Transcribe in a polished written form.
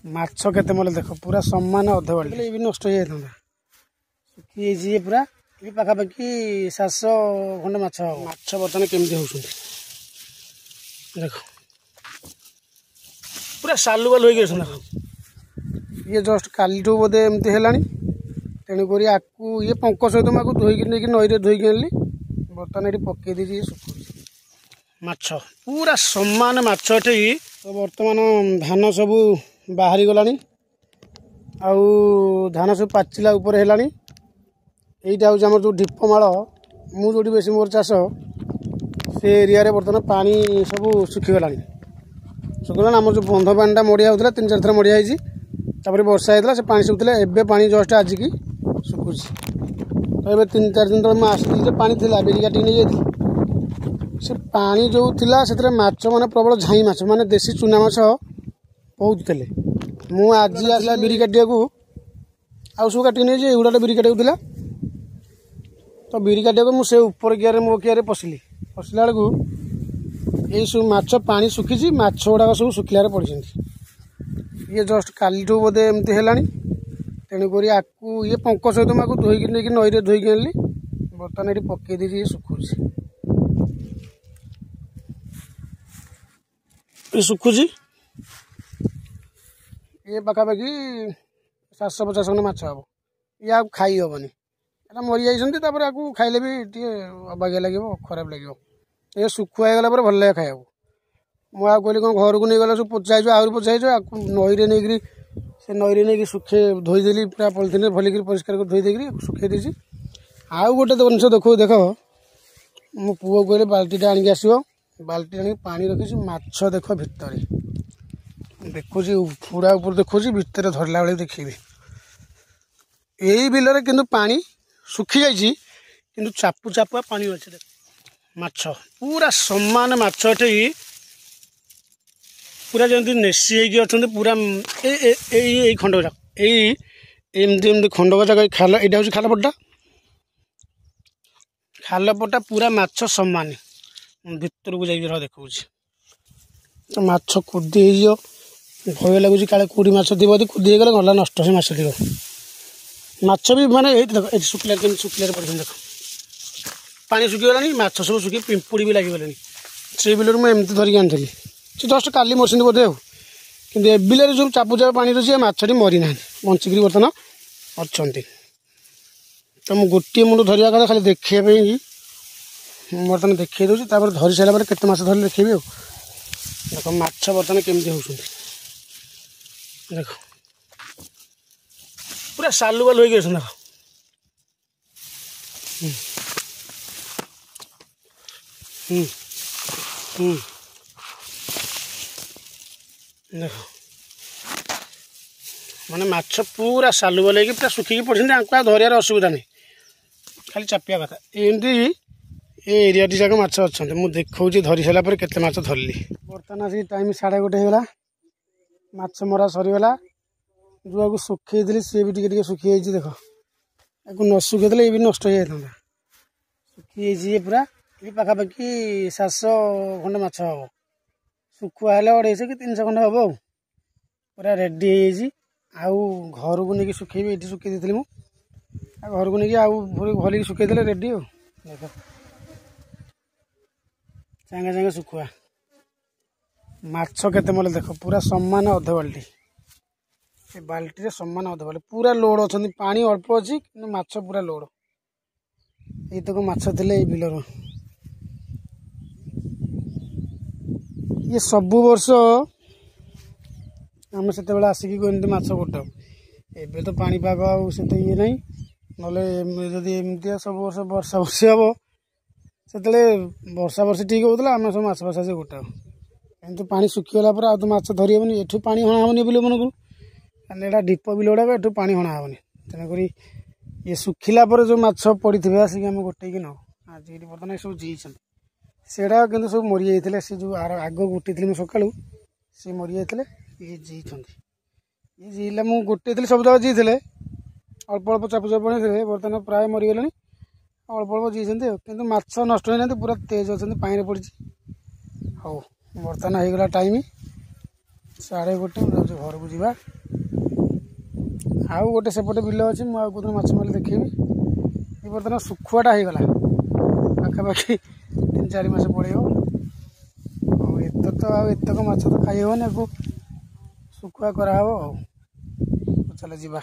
ମାଛ କେତେ ମଲେ ଦେଖ, ପୁରା ସମାନ ଅଧ ବାଲ୍ଟି। ଇଏ ବି ନଷ୍ଟ ହେଇଯାଇଥାନ୍ତା, ଶୁଖିଯାଇଛି ଇଏ ପୁରା। ଇଏ ପାଖାପାଖି 700 ଖଣ୍ଡେ ମାଛ ହବ। ମାଛ ବର୍ତ୍ତମାନ କେମିତି ହେଉଛନ୍ତି ଦେଖ, ପୁରା ସାଲୁ ବାଲୁ ହେଇକି ଅଛନ୍ତି। ଦେଖ, ଇଏ ଜଷ୍ଟ କାଲିଠୁ ବୋଧେ ଏମିତି ହେଲାଣି। ତେଣୁକରି ଆକୁ ଇଏ ପଙ୍କ ସହିତ ମୁଁ ଆକୁ ଧୋଇକି ନେଇକି ନଈରେ ଧୋଇକି ଆଣିଲି। ବର୍ତ୍ତମାନ ଏଠି ପକେଇ ଦେଇଛି, ଇଏ ଶୁଖୁଛି। ମାଛ ପୁରା ସମାନ ମାଛ ଏଠି। ତ ବର୍ତ୍ତମାନ ଧାନ ସବୁ ବାହାରି ଗଲାଣି, ଆଉ ଧାନ ସବୁ ପାଚିଲା ଉପରେ ହେଲାଣି। ଏଇଟା ହେଉଛି ଆମର ଯେଉଁ ଢିପମାଳ, ମୁଁ ଯେଉଁଠି ବେଶୀ ମୋର ଚାଷ, ସେ ଏରିଆରେ ବର୍ତ୍ତମାନ ପାଣି ସବୁ ଶୁଖିଗଲାଣି। ଶୁଖିଗଲାଣି। ଆମର ଯେଉଁ ବନ୍ଧ ପାଣିଟା ମଡ଼ିଆ ହେଉଥିଲା, 3 4 ଥର ମଡ଼ିଆ ହେଇଛି, ତାପରେ ବର୍ଷା ହେଇଥିଲା, ସେ ପାଣି ଶୁଖୁଥିଲା। ଏବେ ପାଣି ଜଷ୍ଟ ଆଜିକି ଶୁଖୁଛି। ତ ଏବେ 3 4 ଦିନ ତଳେ ମୁଁ ଆସିଥିଲି ଯେ ପାଣି ଥିଲା, ବିରି କାଟିକି ନେଇଯାଇଥିଲି। ସେ ପାଣି ଯେଉଁ ଥିଲା ସେଥିରେ ମାଛ ମାନେ ପ୍ରବଳ ଝାଇଁ ମାଛ, ମାନେ ଦେଶୀ ଚୁନା ମାଛ ବହୁତ ଥିଲେ। ମୁଁ ଆଜି ଆସିଲା ବିରି କାଟିବାକୁ, ଆଉ ସବୁ କାଟିକି ନେଇଛି, ଏଇଗୁଡ଼ାଟା ବିରି କାଟିବାକୁ ଥିଲା। ତ ବିରି କାଟିବାକୁ ମୁଁ ସେ ଉପର କିଆରେ, ମୋ କିଆରେ ପଶିଲି। ପଶିଲା ବେଳକୁ ଏଇସବୁ ମାଛ, ପାଣି ଶୁଖିଛି, ମାଛ ଗୁଡ଼ାକ ସବୁ ଶୁଖିଲାରେ ପଡ଼ିଛନ୍ତି। ଇଏ ଜଷ୍ଟ କାଲିଠୁ ବୋଧେ ଏମିତି ହେଲାଣି। ତେଣୁକରି ଆକୁ ଇଏ ପଙ୍କ ସହିତ ମୁଁ ଆକୁ ଧୋଇକି ନେଇକି ନଈରେ ଧୋଇକି ଆଣିଲି। ବର୍ତ୍ତମାନ ଏଠି ପକେଇ ଦେଇଛି, ଇଏ ଶୁଖୁଛି। ଇଏ ଶୁଖୁଛି। ଇଏ ପାଖାପାଖି 750 ଖଣ୍ଡେ ମାଛ ହେବ। ଇଏ ଆଉ ଖାଇ ହେବନି, ଏଟା ମରିଯାଇଛନ୍ତି। ତାପରେ ଆକୁ ଖାଇଲେ ବି ଟିକେ ଅବାଗିଆ ଲାଗିବ, ଖରାପ ଲାଗିବ। ଏ ଶୁଖୁଆ ହେଇଗଲା ପରେ ଭଲ ଲାଗେ ଖାଇବାକୁ। ମୁଁ ଆଉ କହିଲି କ'ଣ ଘରକୁ ନେଇଗଲେ ସବୁ ପଚା ହେଇଯିବ, ଆହୁରି ପଚା ହେଇଯିବ। ଆକୁ ନଈରେ ନେଇକିରି, ସେ ନଈରେ ନେଇକି ଶୁଖେଇ ଧୋଇଦେଲି, ପୁରା ପଲିଥିନରେ ଭଲିକିରି ପରିଷ୍କାର କରି ଧୋଇ ଦେଇକିରି ଶୁଖେଇ ଦେଇଛି। ଆଉ ଗୋଟେ ଜିନିଷ ଦେଖ ଦେଖ, ମୋ ପୁଅ କହିଲେ ବାଲ୍ଟିଟା ଆଣିକି ଆସିବ। ବାଲ୍ଟି ଆଣିକି ପାଣି ରଖିଛି। ମାଛ ଦେଖ ଭିତରେ ଦେଖୁଛି, ହୁଡ଼ା ଉପରେ ଦେଖୁଛି, ଭିତରେ ଧରିଲା ବେଳେ ଦେଖିବି। ଏଇ ବିଲରେ କିନ୍ତୁ ପାଣି ଶୁଖିଯାଇଛି, କିନ୍ତୁ ଚାପୁ ଚାପୁଆ ପାଣି ଅଛି। ଦେଖ ମାଛ ପୁରା ସମାନ ମାଛ ଏଠି, ପୁରା ଯେମିତି ନେସି ହେଇକି ଅଛନ୍ତି ପୁରା। ଏଇ ଏଇ ଖଣ୍ଡ ଯାକ, ଏଇ ଏମିତି ଏମିତି ଖଣ୍ଡକ ଯାକ, ଏଇ ଖାଲ, ଏଇଟା ହେଉଛି ଖାଲପଟା। ଖାଲପଟା ପୁରା ମାଛ ସମାନ। ଭିତରକୁ ଯାଇକି ରହ ଦେଖାଉଛି। ତ ମାଛ କୁଦି ହେଇଯିବ, ଭୟ ଲାଗୁଛି, କାଳେ କେଉଁଠି ମାଛ ଥିବ, ଯଦି କୁଦି ହେଇଗଲେ ଗଲା ନଷ୍ଟ ସେ ମାଛ ଥିବ। ମାଛ ବି ମାନେ ଏଇଠି ଦେଖ, ଏଇଠି ଶୁଖିଲା, କେମିତି ଶୁଖିଲାରେ ପଡ଼ିଛନ୍ତି ଦେଖ। ପାଣି ଶୁଖିଗଲାଣି, ମାଛ ସବୁ ଶୁଖି ପିମ୍ପୁଡ଼ି ବି ଲାଗିଗଲେଣି। ସେଇ ବିଲରୁ ମୁଁ ଏମିତି ଧରିକି ଆଣିଥିଲି, ସେ ଜଷ୍ଟ କାଲି ମରିଛନ୍ତି ବୋଧେ ଆଉ। କିନ୍ତୁ ଏ ବିଲରେ ଯେଉଁ ଚାପୁ ଚାପୁ ପାଣି ରହୁଛି, ଏ ମାଛଟି ମରିନାହାନ୍ତି, ବଞ୍ଚିକିରି ବର୍ତ୍ତମାନ ଅଛନ୍ତି। ତ ମୁଁ ଗୋଟିଏ ମୁଣ୍ଡ ଧରିବା କଥା ଖାଲି ଦେଖିବା ପାଇଁ ମୁଁ ବର୍ତ୍ତମାନ ଦେଖେଇ ଦେଉଛି। ତାପରେ ଧରି ସାରିଲା ପରେ କେତେ ମାଛ ଧରିଲେ ଦେଖେଇବି। ଆଉ ଦେଖ ମାଛ ବର୍ତ୍ତମାନ କେମିତି ହେଉଛନ୍ତି ଦେଖ, ପୁରା ସାଲୁ ବାଲୁ ହେଇକି ଅଛନ୍ତି ଦେଖ। ହୁଁ ହୁଁ, ଦେଖ ମାନେ ମାଛ ପୁରା ସାଲୁ ବାଲୁ ହେଇକି ପୁରା ଶୁଖିକି ପଡ଼ିଛନ୍ତି। ଆଙ୍କୁ ଆଉ ଧରିବାର ଅସୁବିଧା ନାହିଁ, ଖାଲି ଚାପିବା କଥା। ଏମିତି ଏ ଏରିଆଟି ଯାକ ମାଛ ଅଛନ୍ତି। ମୁଁ ଦେଖାଉଛି ଧରି ସାରିଲା ପରେ କେତେ ମାଛ ଧରିଲି। ବର୍ତ୍ତମାନ ଆସିକି ଟାଇମ୍ 1:30 ହେଇଗଲା, ମାଛ ମରା ସରିଗଲା। ଯେଉଁଆକୁ ଶୁଖେଇଥିଲି ସିଏ ବି ଟିକେ ଟିକେ ଶୁଖିଯାଇଛି ଦେଖ। ଆକୁ ନ ଶୁଖେଇଥିଲେ ଇଏ ବି ନଷ୍ଟ ହେଇଯାଇଥାନ୍ତା। ଶୁଖିଯାଇଛି ଇଏ ପୁରା। ଇଏ ପାଖାପାଖି 700 ଖଣ୍ଡେ ମାଛ ହେବ। ଶୁଖୁଆ ହେଲେ 250 କି 300 ଖଣ୍ଡେ ହେବ। ଆଉ ପୁରା ରେଡ଼ି ହେଇଯାଇଛି। ଆଉ ଘରକୁ ନେଇକି ଶୁଖେଇବି, ଏଇଠି ଶୁଖେଇ ଦେଇଥିଲି ମୁଁ। ଆଉ ଘରକୁ ନେଇକି ଆଉ ଭଲିକି ଶୁଖେଇଦେଲେ ରେଡ଼ି। ଆଉ ଦେଖ ସାଙ୍ଗେ ସାଙ୍ଗେ ଶୁଖୁଆ ମାଛ କେତେ ମଲେ ଦେଖ, ପୁରା ସମାନ ଅଧ ବାଲ୍ଟି। ଏ ବାଲ୍ଟିରେ ସମାନ ଅଧ ବାଲ୍ଟି ପୁରା ଲୋଡ଼ ଅଛନ୍ତି। ପାଣି ଅଳ୍ପ ଅଛି କିନ୍ତୁ ମାଛ ପୁରା ଲୋଡ଼। ଏଇତକ ମାଛ ଥିଲେ ଏଇ ବିଲରୁ। ଇଏ ସବୁ ବର୍ଷ ଆମେ ସେତେବେଳେ ଆସିକି ଏମିତି ମାଛ ଗୋଟାଉ। ଏବେ ତ ପାଣିପାଗ ଆଉ ସେତେ ଇଏ ନାହିଁ, ନହେଲେ ଯଦି ଏମିତିଆ ସବୁ ବର୍ଷ ବର୍ଷା ବର୍ଷି ହେବ, ସେତେବେଳେ ବର୍ଷା ବର୍ଷି ଠିକ୍ ହେଉଥିଲା, ଆମେ ସବୁ ମାଛ ଫାଛ ଆସି ଗୋଟାଉ। କିନ୍ତୁ ପାଣି ଶୁଖିଗଲା ପରେ ଆଉ ତ ମାଛ ଧରି ହେବନି। ଏଠୁ ପାଣି ହଣା ହେବନି ବିଲମାନଙ୍କୁ, କାରଣ ଏଇଟା ଢିପ ବିଲ ଗୁଡ଼ାକ, ଏଠୁ ପାଣି ହଣା ହେବନି। ତେଣୁକରି ଇଏ ଶୁଖିଲା ପରେ ଯେଉଁ ମାଛ ପଡ଼ିଥିବେ ଆସିକି ଆମେ ଗୋଟେଇକି ନେଉ। ଆଜି ଏଠି ବର୍ତ୍ତମାନ ଏସବୁ ଜିଇଛନ୍ତି, ସେଗୁଡ଼ାକ କିନ୍ତୁ ସବୁ ମରିଯାଇଥିଲେ। ସେ ଯେଉଁ ଆର ଆଗ ଗୋଟେଇଥିଲି ମୁଁ ସକାଳୁ, ସେ ମରିଯାଇଥିଲେ। ଇଏ ଜିଇଛନ୍ତି। ଇଏ ଜିଇଲେ ମୁଁ ଗୋଟେଇଥିଲି, ସବୁ ଯାକ ଜିଇଥିଲେ, ଅଳ୍ପ ଅଳ୍ପ ଚାପୁ ଚାପୁ ପଡ଼ିଥିଲେ। ବର୍ତ୍ତମାନ ପ୍ରାୟ ମରିଗଲେଣି, ଅଳ୍ପ ଅଳ୍ପ ଜିଇଛନ୍ତି ଆଉ। କିନ୍ତୁ ମାଛ ନଷ୍ଟ ହେଇନାହାନ୍ତି, ପୁରା ତେଜ ଅଛନ୍ତି, ପାଣିରେ ପଡ଼ିଛି। ହଉ, ବର୍ତ୍ତମାନ ହେଇଗଲା ଟାଇମ୍। 1:30। ମୁଁ ଯାଉଛି ଘରକୁ ଯିବା। ଆଉ ଗୋଟେ ସେପଟେ ବିଲ ଅଛି, ମୁଁ ଆଉ କେଉଁଦିନ ମାଛ ମାରିଲେ ଦେଖେଇବି। ଏ ବର୍ତ୍ତମାନ ଶୁଖୁଆଟା ହେଇଗଲା, ପାଖାପାଖି 3-4 ମାସ ପଳେଇବ। ଆଉ ଏତେ ତ ଆଉ ଏତକ ମାଛ ତ ଖାଇ ହେବନି, ଆକୁ ଶୁଖୁଆ କରାହେବ। ଆଉ ଚାଲ ଯିବା।